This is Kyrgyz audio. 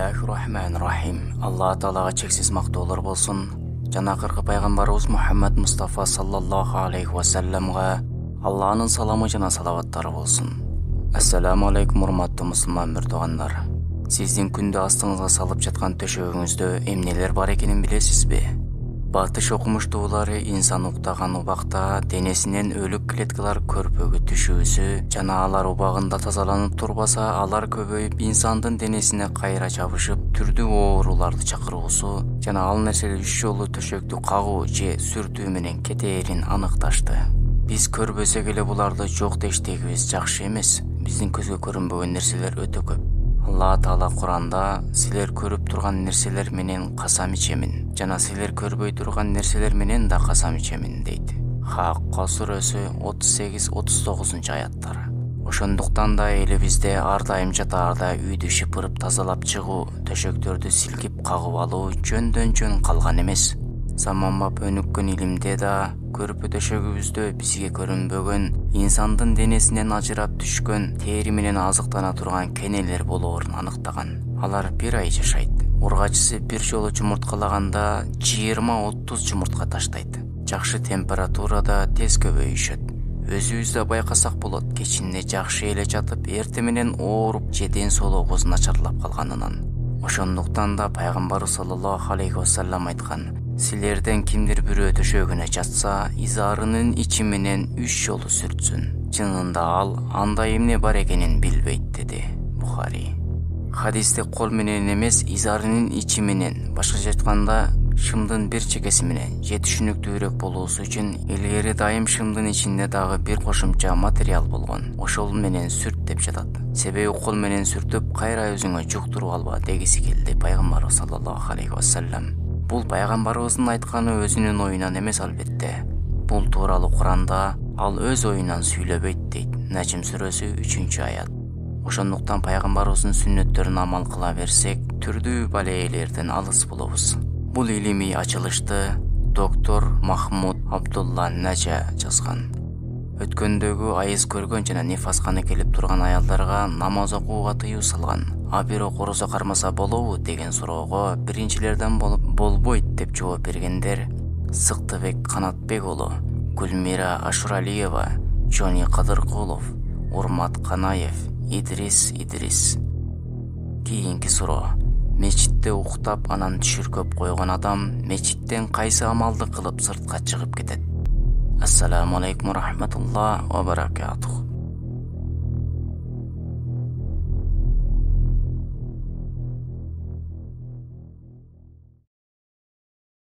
Бисмиллахир-рахманир-рахим. Алла Таалага чексиз мактоолор болсун. Жана акыркы пайгамбарыбыз Мухаммад Мустафа саллаллаху алейхи ва салламга Алланын саламы жана салаваттары болсун. Ассаламу алейкум, урматтуу мусулман мурдугандар. Сиздин күндө астыңызга салып жаткан төшөгүңүздө эмнелер бар экенин билесизби? Батыш окумуштуулары инсан уктаган убакта денесинен өлүк клеткалар көрпөгө түшүүсү жана алар убагында тазаланып турбаса, алар көбөйүп инсандын денесине кайра жабышып, түрдүү ооруларды чакыруусу жана ал нерселер 3 жолу төшөктү кагуу же сүртүү менен кетээрин аныкташты. Биз көрбөсөк эле буларды жок дештегибиз жакшы эмес. Биздин көзгө көрүнбөгөн нерселер өтө көп. Алла Таала Куранда силер көрүп турган нерселер менен касам ичемин жана силер көрбөй турган нерселер менен да касам ичемин дейт. Хакка сүрөсү 38-39 аяттар. Ошондуктан да элибизде ар дайым жатаарда үйдү шыпырып тазалап чыгуу, төшөктөрдү силкип кагып алуу жөндөн жөн калган эмес. Заманбап өнүккөн илимде да көрпө төшөгүбүздө бизге көрүнбөгөн, инсандын денесинен ажырап түшкөн, тери менен азыктана турган кенелер болоорун аныктаган. Алар 1 ай жашайт. Ургачысы бир жолу жумурткалаганда 20-30 жумуртка таштайт. Жакшы температурада тез көбөйүшөт. Өзүбүз да байкасак болот, кечинде жакшы эле жатып, эртең менен ооруп же ден соолугубуз начарлап калганынан. Ошондуктан да пайгамбар саллаллаху алейхи ва саллам айткан: силерден кимдир бирөө төшөгүнө жатса, изарынын ичи менен 3 жолу сүртсүн. Чынында ал андай эмне бар экенин билбейт, деди Бухари. Хадисте кол менен эмес, изарынын ичи менен, башкача айтканда шымдын бир чекеси менен же түшүнүктүүрөөк болуусу үчүн илгери дайым шымдын ичинде дагы бир кошумча материал болгон. Ошол менен сүрт деп жатат. Себеби кол менен сүртүп кайра өзүңө жуктуруп алба дегиси келди пайгамбар саллаллаху алейхи ва саллам. Бул пайгамбарыбыздын айтканы өзүнүн оюнан эмес албетте. Бул тууралуу Куранда ал өз оюнан сүйлөбөйт дейт. Нажм сүрөсү 3-аят. Ошондуктан пайгамбарыбыздын сүннөттөрүнө амал кыла берсек, түрдүү балейлерден алыс болобуз. Бул илимий ачылышты доктор Махмуд Абдулла Нажа жазган. Өткөндөгү айыз көргөн жана нифасканы келип турган аялдарга намаз окууга тыюу салган. А бирок орозо кармаса болобу деген суроого биринчилерден болбойт деп жооп бергендер Сыктыбек Канатбек уулу, Гүлмира Ашуралиева, Жони Кадыркулов, Урмат Канаев, Идрис. Кийинки суроо: мечитте уктап анан түшүркөп койгон адам мечиттен кайсы амалды кылып сыртка чыгып кетет? Ассаламу алейкум ва рахматуллах ва баракатух.